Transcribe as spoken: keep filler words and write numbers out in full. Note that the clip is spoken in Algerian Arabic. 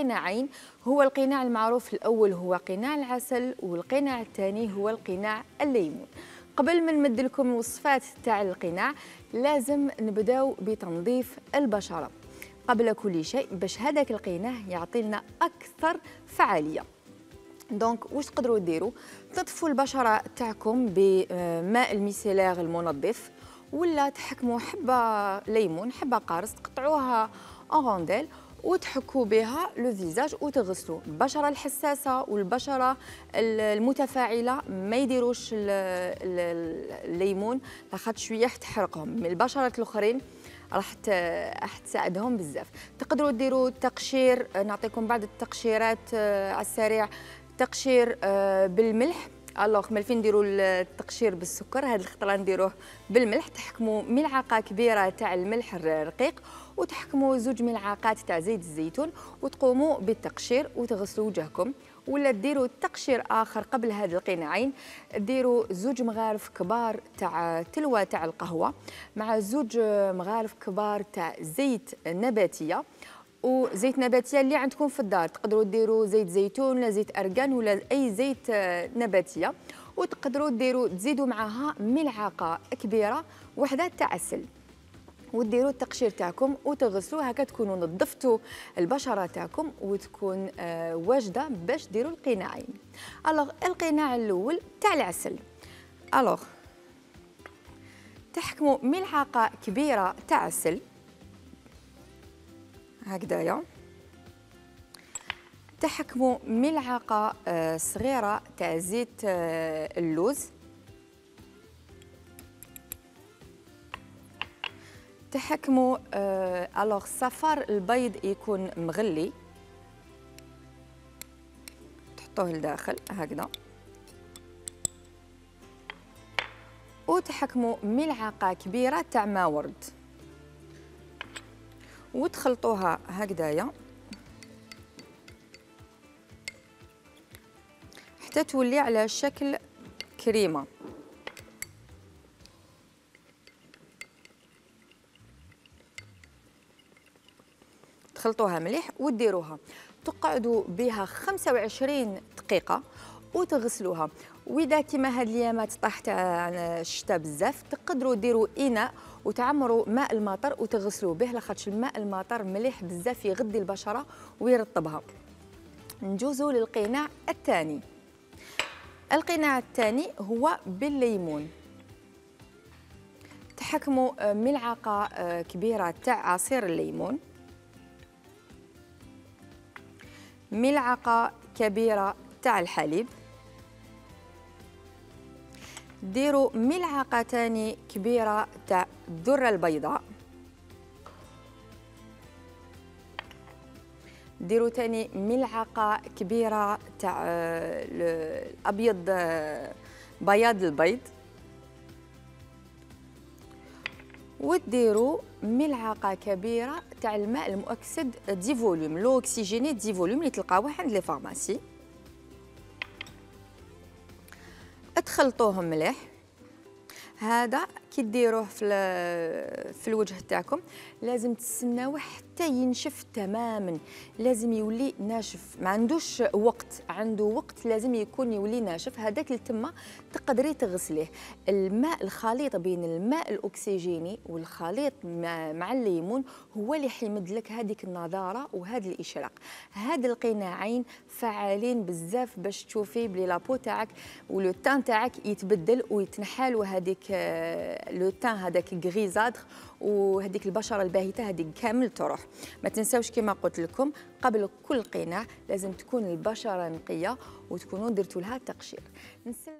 قناعين. هو القناع المعروف الأول هو قناع العسل، والقناع الثاني هو القناع الليمون. قبل ما نمد لكم الوصفات تاع القناع لازم نبداو بتنظيف البشرة قبل كل شيء باش هذاك القناع يعطي لنا أكثر فعالية. دونك واش تقدروا ديروا؟ تنظفوا البشرة تاعكم بماء الميسيلير المنظف، ولا تحكموا حبة ليمون حبة قارص تقطعوها اون رونديل وتحكوا بها لو فيزاج وتغسلوا. البشره الحساسه والبشره المتفاعله ما يديروش الليمون لاخاطش شويه تحرقهم، من البشرات الاخرين راح راح تساعدهم بزاف. تقدروا ديروا تقشير، نعطيكم بعض التقشيرات على السريع. تقشير بالملح، الوغ مالفين نديروا التقشير بالسكر، هذه الخطره نديروه بالملح. تحكموا ملعقه كبيره تاع الملح الرقيق وتحكموا زوج ملعقات تاع زيت الزيتون وتقوموا بالتقشير وتغسلوا وجهكم. ولا ديروا تقشير اخر قبل هذه القناعين، ديروا زوج مغارف كبار تاع تلوه تاع القهوه مع زوج مغارف كبار تاع زيت نباتيه وزيت نباتيه اللي عندكم في الدار. تقدروا ديروا زيت زيتون ولا زيت ارغان ولا اي زيت نباتيه، وتقدروا ديروا تزيدوا معها ملعقه كبيره وحده تاع عسل وديروا التقشير تاعكم وتغسلوا. هكا تكونوا نظفتوا البشره تاعكم وتكون آه واجده باش ديروا القناعين. الوغ القناع الاول تاع العسل، الوغ تحكموا ملعقه كبيره تاع عسل هكذايا، تحكموا ملعقه آه صغيره تاع زيت آه اللوز، تحكموا آه الوغ صفار البيض يكون مغلي تحطوه لداخل هكذا، وتحكموا ملعقه كبيره تاع ما ورد وتخلطوها هكذايا حتى تولي على شكل كريمه. تخلطوها مليح وديروها تقعدوا بها خمسة وعشرين دقيقه وتغسلوها. واذا كيما هاد الايامات طاح تاع الشتاء بزاف تقدروا ديروا اناء وتعمروا ماء المطر وتغسلوا به، لاخاطش الماء المطر مليح بزاف يغذي البشره ويرطبها. نجوزوا للقناع الثاني. القناع الثاني هو بالليمون. تحكموا ملعقه كبيره تاع عصير الليمون، ملعقه كبيره تاع الحليب، ديروا ملعقه ثاني كبيره تاع الذره البيضاء، ديروا ثاني ملعقه كبيره تاع الابيض بياض البيض، وديروا ملعقه كبيره تاع الماء المؤكسد دي فوليوم، لو اوكسيجيني دي فوليوم اللي تلقاوه عند لي فارماسي. تخلطوهم مليح. هذا كي ديروه في في الوجه تاعكم لازم تستناوه حتى ينشف تماما، لازم يولي ناشف، ما عندوش وقت، عنده وقت لازم يكون يولي ناشف. هذاك اللي تما تقدري تغسليه. الماء الخليط بين الماء الاكسجيني والخليط مع الليمون هو اللي حيمد لك هذيك النضاره وهذا الاشراق. هاد القناعين فعالين بزاف باش تشوفي بلي لابو تاعك ولو تان تاعك يتبدل ويتنحال، وهذيك لو تان هذاك غريزادغ وهذيك البشره الباهته هذيك كامل تروح. ما تنساوش كما قلت لكم قبل كل قناع لازم تكون البشره نقيه وتكونوا درتوا لها تقشير.